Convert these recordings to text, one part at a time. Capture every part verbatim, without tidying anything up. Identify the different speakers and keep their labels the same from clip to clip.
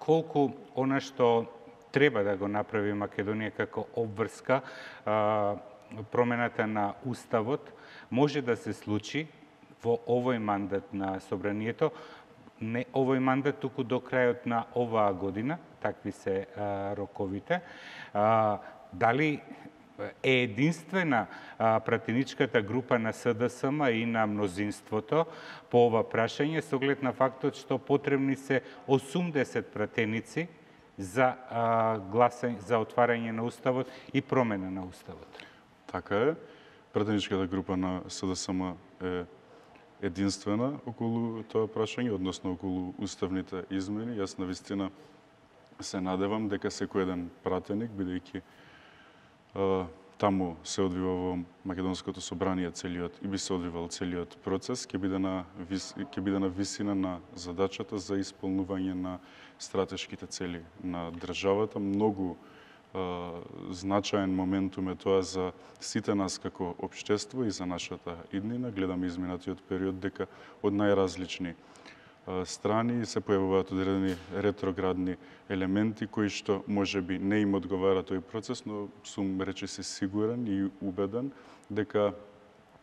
Speaker 1: колку она што треба да го направи Македонија како обврска, промената на уставот, може да се случи во овој мандат на собранието, не овој мандат, туку до крајот на оваа година, такви се а, роковите. А, дали е единствена а, пратеничката група на СДСМ и на мнозинството по ова прашање, со оглед на фактот што потребни се осумдесет пратеници за а, гласање, за отварање на уставот и промена на уставот?
Speaker 2: Така е. Пратеничката група на СДСМ е единствена околу тоа прашање, односно околу уставните измени. Јас навистина се надевам дека секој еден пратеник, бидејќи таму се одвива во Македонското собрание целиот и би се одвивал целиот процес, ќе биде на вис, ќе биде на висина на задачата за исполнување на стратешките цели на државата. Многу значаен моментум е тоа за сите нас како општество и за нашата иднина. Гледаме изминатиот период дека од најразлични страни се појавуваат одредени ретроградни елементи кои што можеби не им одговара тој процес, но сум речиси сигурен и убеден дека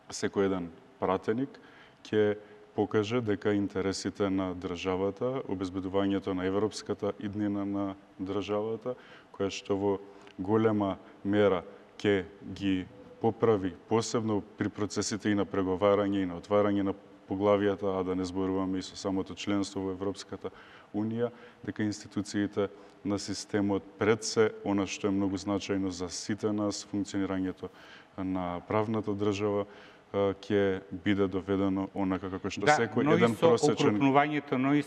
Speaker 2: секој еден пратеник ќе покаже дека интересите на државата, обезбедувањето на европската иднина на државата, која што во голема мера ќе ги поправи, посебно при процесите и на преговарање и на отварање на поглавијата, а да не зборуваме и со самото членство во Европската Унија, дека институциите на системот пред се, она што е многу значајно за сите нас, функционирањето на правната држава, ќе биде доведено онака како што
Speaker 1: да,
Speaker 2: секој еден просечен...
Speaker 1: Да, но и со окрупнувањето, но и